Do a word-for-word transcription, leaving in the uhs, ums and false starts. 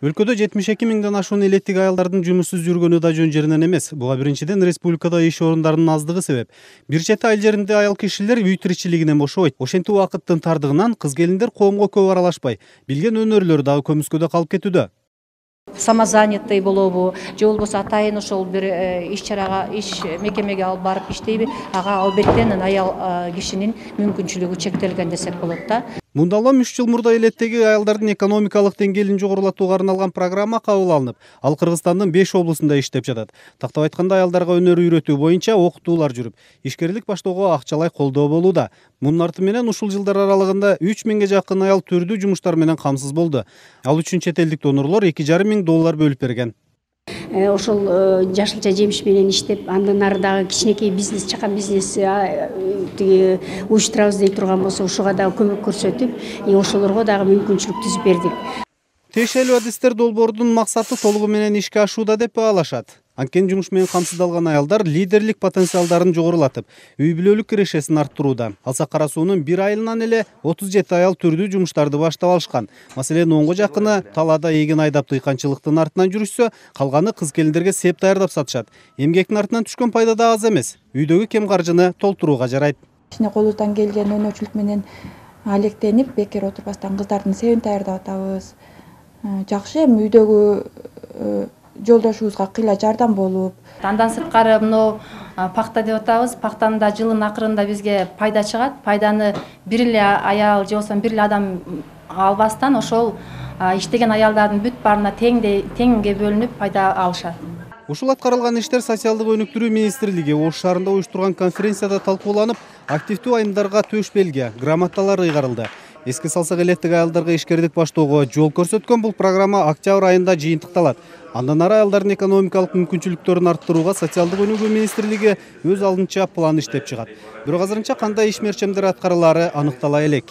Өлкөдө жетимиш эки миңден ашуун элеттик аялдардын жумушсуз жүргөнү да жөн жеринен эмес. Буга биринчиден республикада иш орундарынын аздыгы себеп. Бир чети айыл жеринде аял кишилер үй тиричилигинен бошобойт. Ошентип убакыттын тардыгынан кыз келиндер коомго көп аралашпай, билген өнөрлөр дагы көмүскөдө калып кетүүдө. Самозанятый болобу же болбосо атайын ошол бир иш чарага иш мекемеге алып барып иштейби, ага албеттен аял кишинин мүмкүнчүлүгү чектелген десек болот да. Мындалам үч жыл мурда элеттеги аялдардын экономикалык деңгээлин жогорулатууга арналган программа кабыл алынып, ал Кыргызстандын беш облусунда иштеп жатат. Тактап айтканда, аялдарга өнөр үйрөтүү боюнча окутуулар жүрүп, ишкерлик баштоого акчалай колдоо болууда. Мунун арты менен ушул жылдар аралыгында үч миңге жакын аял түрдүү жумуштар менен камсыз болду. Ал үчүн чет элдик донорлор эки жарым миң доллар бөлүп берген. Ошол жашылча жемиш менен иштеп, андан ары дагы кичинекей бизнес, чакан бизнес тиги уюштурабыз дей турган болсо, ушуга дагы көмөк көрсөтүп, ошолорго дагы мүмкүнчүлүк түзүп бердик. Тиешелүү адистер долбоордун максаты толугу менен ишке ашууда деп баалашат. Анткени жумуш менен камсыздалган аялдар лидерлик потенциалдарын жогорулатып, үй бүлөлүк кирешесин арттырууда. Алсак Кара суунун бир айылынан эле отуз жети аял түрдүү жумуштарды баштап алышкан. Маселен, онго жакыны талаада эгин айдап дыйканчылыктын артынан жүрүшсө, калганы кыз келиндерге сеп даярдап сатышат. Эмгектин артынан түшкөн пайда да аз эмес. Үйдөгү кем каржыны толтурууга жарайт. Кичине колубуздан келген өнөрчүлүк менен алектенип, бекер отурбастан кыздардын себин даярдап атабыз. Жакшы, эми үйдөгү жолдошубузга кыйла жардам болуп. Андан сырткары мына пакта деп атабыз. Пактаны да жылдын акырында бизге пайда чыгат. Пайданы бир эле аял же болбосо бир эле адам албастан, ошол иштеген аялдардын бүт баарына теңге бөлүнүп пайда алышат. Ушул аткарылган иштер социалдык өнүктүрүү министрлиги Ош шаарында уюштурган конференцияда талкууланып, активдүү айымдарга төш белги, грамоталар ыйгарылды. Эске салсак, элеттик аялдарга ишкердик баштоого жол көрсөткөн бул программа октябрь айында жыйынтыкталат. Андан ары аялдардын экономикалык мүмкүнчүлүктөрүн арттырууга социалдык өнүгүү министрлиги өз алдынча план иштеп чыгат. Бирок азырынча кандай иш мерчемдер аткарылаары аныктала элек.